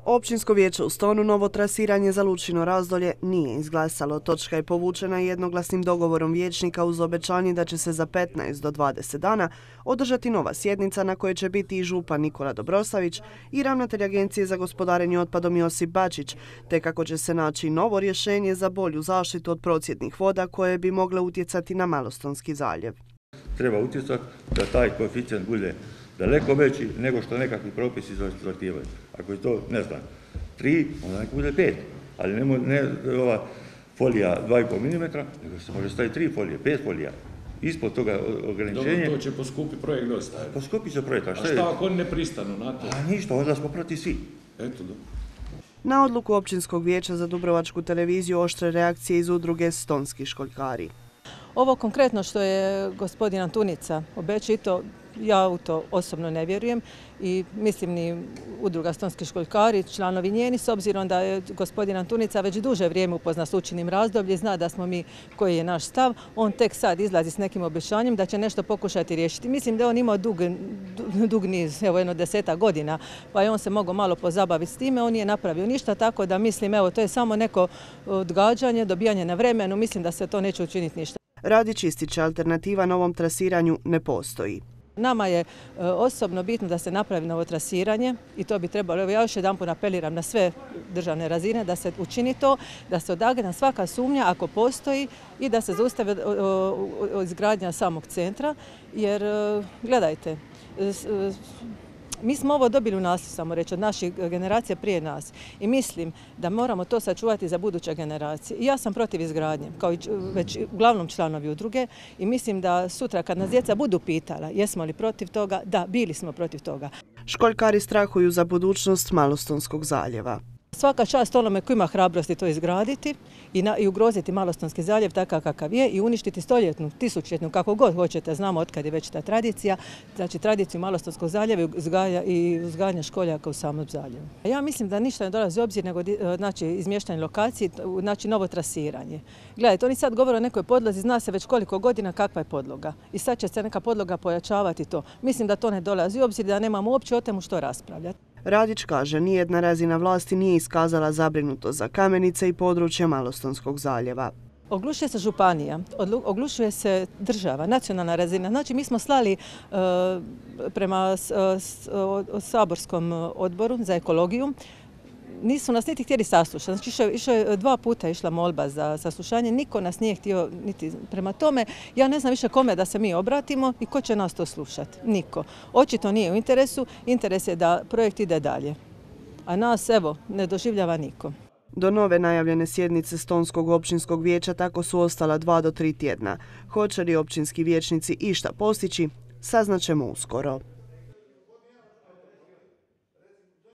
Općinsko vijeće u Stonu novo trasiranje za Lučino Razdolje nije izglasalo. Točka je povučena jednoglasnim dogovorom vijećnika uz obećanje da će se za 15 do 20 dana održati nova sjednica na kojoj će biti i župan Nikola Dobrosavić i ravnatelj Agencije za gospodarenje otpadom Josip Bačić, te kako će se naći novo rješenje za bolju zaštitu od procjednih voda koje bi mogle utjecati na Malostonski zaljev. Treba utjecati da taj koeficijent bude daleko veći nego što nekakvi propisi zahtijevaju. Ako je to, ne znam, 3, onda neko bude 5, ali ne ova folija 2,5 mm, nego se može staviti 3 folije, 5 folija. Ispod toga ograničenje... Dobro, to će poskupiti projekt dosta. Poskupit će projekt, a šta ako oni ne pristanu na to? A ništa, onda smo protiv svi. Eto, dobro. Na odluku Općinskog vijeća za Dubrovačku televiziju oštre reakcije iz udruge Stonski školjkari. Ovo konkretno što je gospodin Antunica obećao, i to ja u to osobno ne vjerujem i mislim ni udruga Stonski školjkari, članovi njeni, s obzirom da je gospodin Antunica već duže vrijeme upozna s Lučinim razdobljem, zna da smo mi, koji je naš stav, on tek sad izlazi s nekim obećanjem da će nešto pokušati riješiti. Mislim da on imao dug niz, evo 10 godina, pa je on se mogao malo pozabaviti s time, on nije napravio ništa, tako da mislim, evo, to je samo neko odgađanje, dobijanje na vremenu, mislim da se to neće učiniti ništa. Radić ističe, alternativa novom trasiranju ne postoji. Nama je osobno bitno da se napravi novo trasiranje i to bi trebalo, evo ja još jedanput apeliram na sve državne razine da se učini to, da se odagna svaka sumnja ako postoji i da se zaustavi izgradnja samog centra, jer gledajte, mi smo ovo dobili u nasljeđe, samo reći, od naših generacija prije nas i mislim da moramo to sačuvati za buduće generacije. I ja sam protiv izgradnje, kao i već uglavnom članovi udruge i mislim da sutra kad nas djeca budu pitala jesmo li protiv toga, da, bili smo protiv toga. Školjkari strahuju za budućnost Malostonskog zaljeva. Svaka čast onome koji ima hrabrosti to izgraditi i ugroziti Malostonski zaljev takav kakav je i uništiti stoljetnu, tisućljetnu, kako god hoćete, znamo otkad je već ta tradicija, znači tradiciju Malostonskog zaljeva i uzgajanja školjaka u samom zaljevu. Ja mislim da ništa ne dolazi u obzir nego znači, izmještanje lokacije, znači novo trasiranje. Gledajte, oni sad govore o nekoj podlozi, zna se već koliko godina kakva je podloga i sad će se neka podloga pojačavati to. Mislim da to ne dolazi u obzir, da nemamo uopće o temu što raspravljati. Radić kaže, nijedna razina vlasti nije iskazala zabrinutost za Kamenice i područje Malostonskog zaljeva. Oglušuje se županija, oglušuje se država, nacionalna razina. Znači, mi smo slali prema saborskom odboru za ekologiju, nisu nas niti htjeli saslušati. Znači, dva puta išla molba za saslušanje, niko nas nije htio niti prema tome. Ja ne znam više kome da se mi obratimo i ko će nas to slušati. Niko. Očito nije u interesu, interes je da projekt ide dalje. A nas, evo, ne doživljava niko. Do nove najavljene sjednice Stonskog općinskog vijeća tako su ostala 2 do 3 tjedna. Hoće li općinski vijećnici išta postići, saznaćemo uskoro.